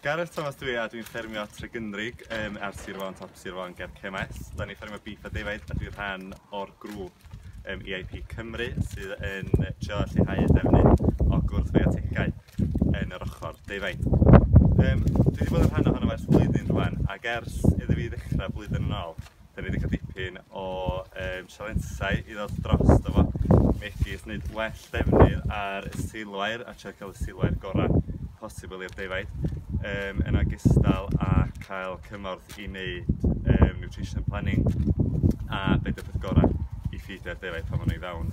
Gareth Thomas dwi a dwi'n ffermio Tregynrig ar Sir Fôn, top Sir Fôn ger Cemaes. Da ni'n ffermio beef a defaid a dwi'n rhan o'r grŵp EIP Cymru sydd yn trio lleihau y defnydd o gwrthfiotigau yn yr ochr defaid. Dwi wedi bod yn rhan ohono ers blwyddyn rwan, ac ers iddo fi ddechrau blwyddyn yn ôl, da ni wedi cael dipyn o sialensau i ddod dros fo, megis wneud well defnydd ar y silwair a trio cael y silwair gorau posibl i'r defaid, yn ogystal â cael cymorth i wneud nutrition planning a beth yw'r peth gorau i ffidio'r defaid pan maen nhw i fewn.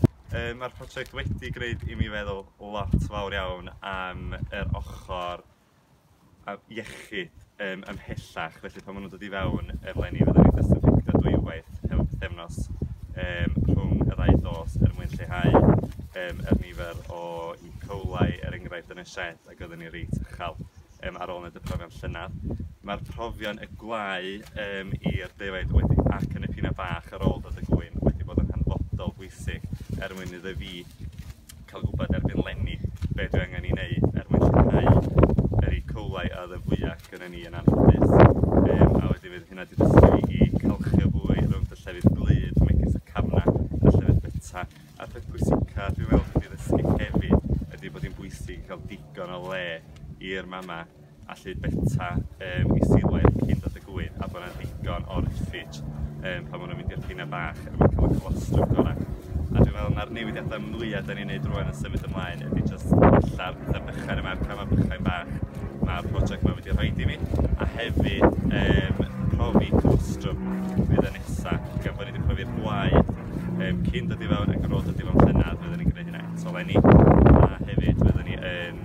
Mae'r prosiect wedi gwneud i mi feddwl lot fawr iawn am yr ochr iechyd ymhellach, felly pan maen nhw'n dod i fewn eleni fydden ni'n disinfectio dwywaith hefo pythefnos rhwng y ddau dos er mwyn lleihau yr nifer o E. coli er enghraifft yn y shed, ac oedden ni reit uchel ar ôl wneud y profion llynedd. Mae'r profion y gwlâu i'r defaid wedi ac yn y pina bach ar ôl dod y gwyn wedi bod yn hanfodol bwysig er mwyn iddo fi cael gwybod erbyn leni be dwi angen i wneud er mwyn lleihau yr E. coli a oedd y fwyaf gyda ni yn anffodus. A wedyn fydd hynna wedi dysgu fi i calchio fwy rhwng y llefydd gwlyb megis y cafna a llefydd byta. A'r peth pwysica dwi'n meddwl dwi wedi ddysgu hefyd ydy bod hi'n bwysig i cael digon o le i'r mama allu beta i silwair cyn dod y gwyn, a bod yna ddigon o refuge pan maen nhw'n mynd i'r pina bach er mwyn cael y colostrum gorau. A dwi'n meddwl na'r newidiadau mwyaf da ni'n neud rwan yn symud ymlaen ydy jyst wella'r pethau bychain yma, yr camau bychain bach mae'r prosiect yma wedi rhoi i mi, a hefyd profi colostrum fydd y nesa, gan bod ni wedi profi'r gwaed cyn dod i fewn ac ar ôl dod i fewn llynedd, fyddwn ni'n gwneud hynna eto leni, a hefyd fyddwn ni yn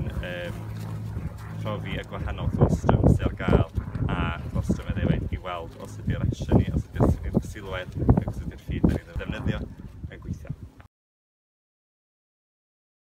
profi y gwahanol colostrum sydd ar gael a colostrum y ddefaid i weld os ydy'r ration ni, os ydy'r silwair ac os ydy'r feed da ni'n ddefnyddio.